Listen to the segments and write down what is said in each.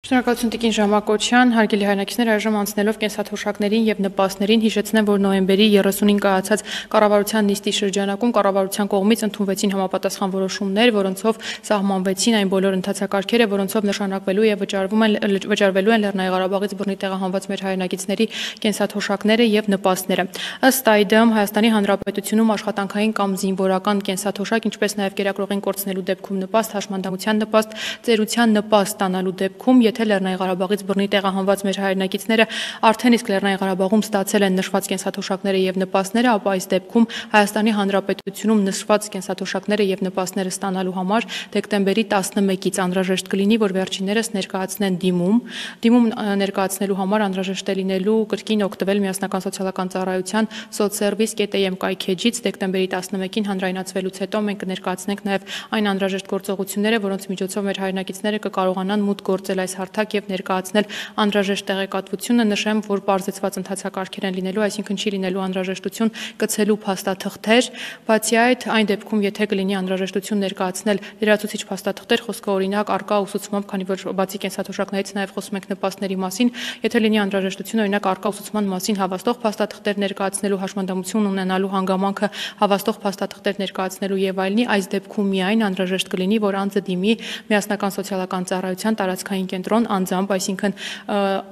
Շնորհակալություն Տիկին Ժամակոչյան, հարգելի հայրենակիցներ, այժմ անցնելով կենսաթոշակներին եւ նպաստներին հիշեցնեմ, որ նոյեմբերի 30-ին կայացած կառավարության նիստի շրջանակում կառավարության կողմից ընդունվեցին համապատասխան որոշումներ, որոնցով սահմանվեցին այն բոլոր ընթացակարգերը, որոնցով նշանակվելու եւ վճարվելու են Լեռնային Ղարաբաղից բռնի տեղահանված մեր հայրենակիցների կենսաթոշակները եւ նպաստները։ Ըստ այդմ Հայաստանի Հանրապետությունում աշխատանքային կամ զինվորական կենսաթոշակ, ինչպես նաեւ կերակրողին կորցնելու դեպքում նպաստ, հաշմանդամության նպաստ, ծերության նպաստ ստանալու դեպքում, եթե Լեռնային Ղարաբաղից բռնի տեղահանված մեր հայրենակիցները արդեն իսկ Լեռնային Ղարաբաղում ստացել են նշված կենսաթոշակները եւ նպաստները, ապա այս դեպքում Հայաստանի Հանրապետությունում նշված կենսաթոշակները եւ նպաստները ստանալու համար դեկտեմբերի 11-ից անհրաժեշտ կլինի, որ վերջիններս ներկայացնեն դիմում ներկայացնելու համար անհրաժեշտ է լինելու կրկին օգտվել Միասնական սոցիալական ծառայության sotsservice.am կայքեջից դեկտեմբերի 11-ին հանրայնացվելուց հետո մենք կներկայացնենք նաեւ այն անհրաժեշտ գործողությունները, որոնց միջոցով մեր հայրենակիցները կկարողանան մուտք գործել այս հարթակ եւ ներկայացնել անհրաժեշտ տեղեկատվությունը։ Նշեմ, որ բարձրացված ընթացակարգեր են լինելու, այսինքն չի լինելու անհրաժեշտություն կցելու փաստաթղթեր, բացի այդ, այն դեպքում, եթե կլինի անհրաժեշտություն ներկայացնել լրացուցիչ փաստաթղթեր, խոսքը օրինակ արկա ուսուցմամբ, քանի որ բացի կենսաթոշակներից նաեւ խոսում ենք նպաստների մասին, եթե լինի անհրաժեշտություն օրինակ արկա ուսուցման մասին հավաստող փաստաթղթեր ներկայացնելու, հաշմանդամություն ունենալու հանգամանքը հավաստող փաստաթղթեր ներկայացնելու եւ այլնի, այս դեպքում միայն անհրաժեշտ կլինի, որ անձը դիմի Միասնական սոցիալական ծառայության տարածքային կենտրոն անձամբ, այսինքն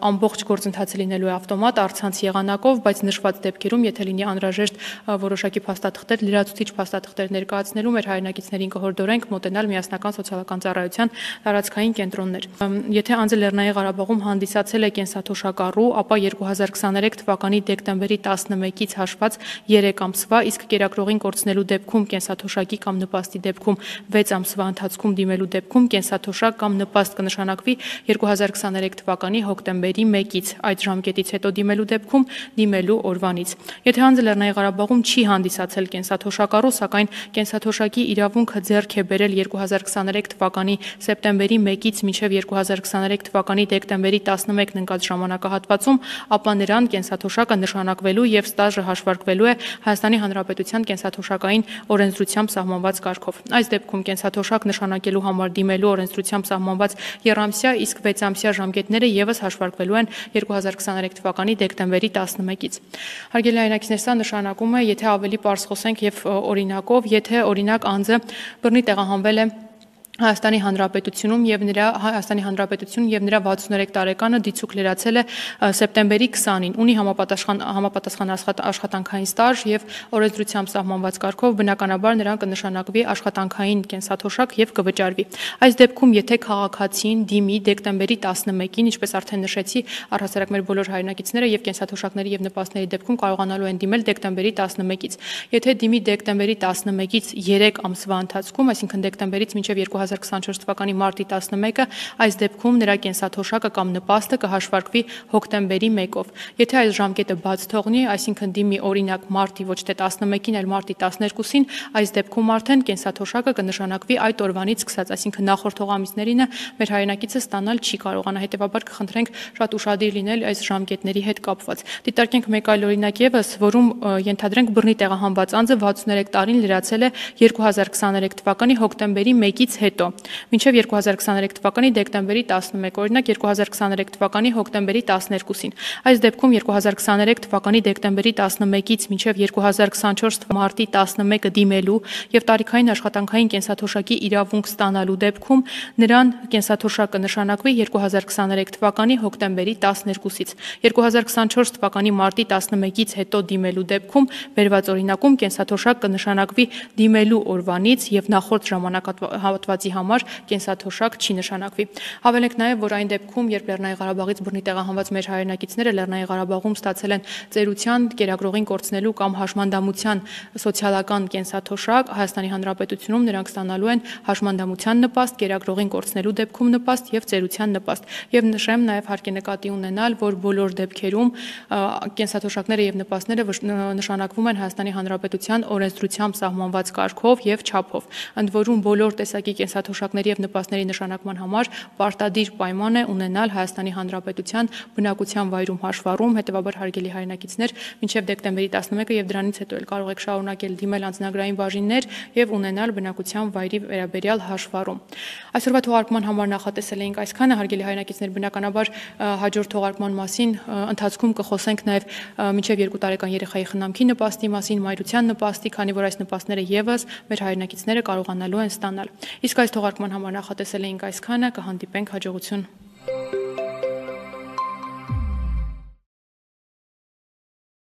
ամբողջ գործընթացը լինելու է ավտոմատ առցանց եղանակով, բայց նշված դեպքերում, եթե լինի անհրաժեշտ որոշակի փաստաթղթեր, լրացուցիչ փաստաթղթեր ներկայացնելու, մեր հայրենակիցներին կհորդորենք մոտենալ Միասնական սոցիալական ծառայության տարածքային կենտրոններ։ Եթե անձը Լեռնային Ղարաբաղում հանդիսացել է կենսաթոշակառու, ապա 2023 թվականի դեկտեմբերի 11-ից հաշված 3 ամսվա, իսկ կերակրողին կորցնելու դեպքում կենսաթոշակի կամ նպաստի դեպքում 6 ամսվա ընթացքում դիմելու դեպքում կենսաթոշակ կամ նպաստ կնշանակվի 2023 թվականի հոկտեմբերի 1-ից, այդ ժամկետից հետո դիմելու դեպքում դիմելու օրվանից։ Եթե անձը Լեռնային Ղարաբաղում չի հանդիսացել կենսաթոշակառու, սակայն կենսաթոշակի իրավունքը ձեռք է բերել 2023 թվականի սեպտեմբերի 1-ից մինչև 2023 թվականի դեկտեմբերի 11-ն ընկած ժամանակահատվածում, ապա նրան կենսաթոշակը նշանակվելու եւ ստաժը հաշվարկվելու է Հայաստանի Հանրապետության կենսաթոշակային օրենսդրությամբ սահմանված կարգով։ Այս դեպքում կենսաթոշակ նշանակելու համար դիմելու օրենսդրությամբ սահմանված եռամսյա, իսկ 6 ամսյա ժամկետները եւս հաշվարկվելու են 2023 թվականի դեկտեմբերի 11-ից։ Հարգելի հայրենակիցներ, սա նշանակում է, եթե ավելի պարզ խոսենք եւ օրինակով, եթե օրինակ անձը բռնի տեղահանվել է Հայաստանի Հանրապետությունում եւ նրա 63 տարեկանը դիցուք լրացել է սեպտեմբերի 20-ին, ունի համապատասխան աշխատանքային ստաժ եւ օրենսդրությամբ սահմանված կարգով, բնականաբար նրան կնշանակվի աշխատանքային կենսաթոշակ եւ կվճարվի։ Այս դեպքում, եթե քաղաքացին դիմի դեկտեմբերի 11-ին, ինչպես արդեն նշեցի, առհասարակ մեր բոլոր հայրենակիցները եւ կենսաթոշակների եւ նպաստների դեպքում կարողանալու են դիմել դեկտեմբերի 11-ից։ Եթե դիմի դեկտեմբերի 11-ից 3 ամսվա ընթացքում, այսինքն դեկտեմբերից մինչև 2024 թվականի մարտի 11-ը, այս դեպքում նրա կենսաթոշակը կամ նպաստը կհաշվարկվի հոկտեմբերի 1-ով։ Եթե այս ժամկետը բաց թողնի, այսինքն դիմի օրինակ մարտի ոչ թե 11-ին, այլ մարտի 12-ին, այս դեպքում արդեն կենսաթոշակը կնշանակվի այդ օրվանից սկսած, այսինքն նախորդ ամիսներին մեր հայրենակիցը ստանալ չի կարողանա, հետեւաբար կխնդրենք շատ ուշադիր լինել այս ժամկետների հետ կապված։ Դիտարկենք մեկ այլ օրինակ եւս, որում ենթադրենք բռնի տեղահանված անձը 63 տարին լրացել է 2023 թվականի հոկտեմբերի 1-ից հետո, մինչև 2023 թվականի դեկտեմբերի 11, օրինակ 2023 թվականի հոկտեմբերի 12-ին։ Այս դեպքում 2023 թվականի դեկտեմբերի 11-ից մինչև 2024 մարտի 11-ը դիմելու եւ տարիքային աշխատանքային կենսաթոշակի իրավունք ստանալու դեպքում նրան կենսաթոշակը նշանակվի 2023 թվականի հոկտեմբերի 12-ից։ 2024 թվականի մարտի 11-ից հետո դիմելու դեպքում վերված օրինակում կենսաթոշակ կնշանակվի դիմելու օրվանից եւ նախորդ ժամանակահատվածի համար կենսաթոշակ չի նշանակվի։ Հավելենք նաեւ, որ այն դեպքում, երբ Լեռնային Ղարաբաղից բռնի տեղահանված մեր հայրենակիցները Լեռնային Ղարաբաղում ստացել են ծերության, կերակրողին կորցնելու կամ հաշմանդամության սոցիալական կենսաթոշակ, Հայաստանի Հանրապետությունում նրանք ստանալու են հաշմանդամության նպաստ, կերակրողին կորցնելու դեպքում նպաստ եւ ծերության նպաստ։ Եվ նշեմ նաեւ հարկ է նկատի ունենալ, որ բոլոր դեպքերում կենսաթոշակները եւ նպաստները նշանակվում են Հայաստանի Հանրապետության օրենսդրությամբ սահմանված կարգով եւ չափով։ Ընդ որում բոլոր տեսակի կենսաթոշակների եւ նպաստների նշանակման համար պարտադիր պայման է ունենալ Հայաստանի Հանրապետության բնակության վայրում հաշվառում, հետեւաբար հարգելի հայրենակիցներ, մինչեւ դեկտեմբերի 11-ը եւ դրանից հետո էլ կարող եք շարունակել դիմել անձնագրային բաժիններ եւ ունենալ բնակության վայրի վերաբերյալ հաշվառում։ Այսօրվա թողարկման համար նախատեսել էինք այսքանը, հարգելի հայրենակիցներ, բնականաբար հաջորդ թողարկման մասին ընթացքում կխոսենք նաեւ մինչեւ 2 տարեկան երեխայի խնամքի նպաստի մասին, մայրության նպաստի, քանի որ այս նպաստները եւս մեր հայրենակիցները կարողանալու են ստանալ։ Իսկ այս թողարկման համար նախատեսել էինք այսքանը, կհանդիպենք հաջողություն։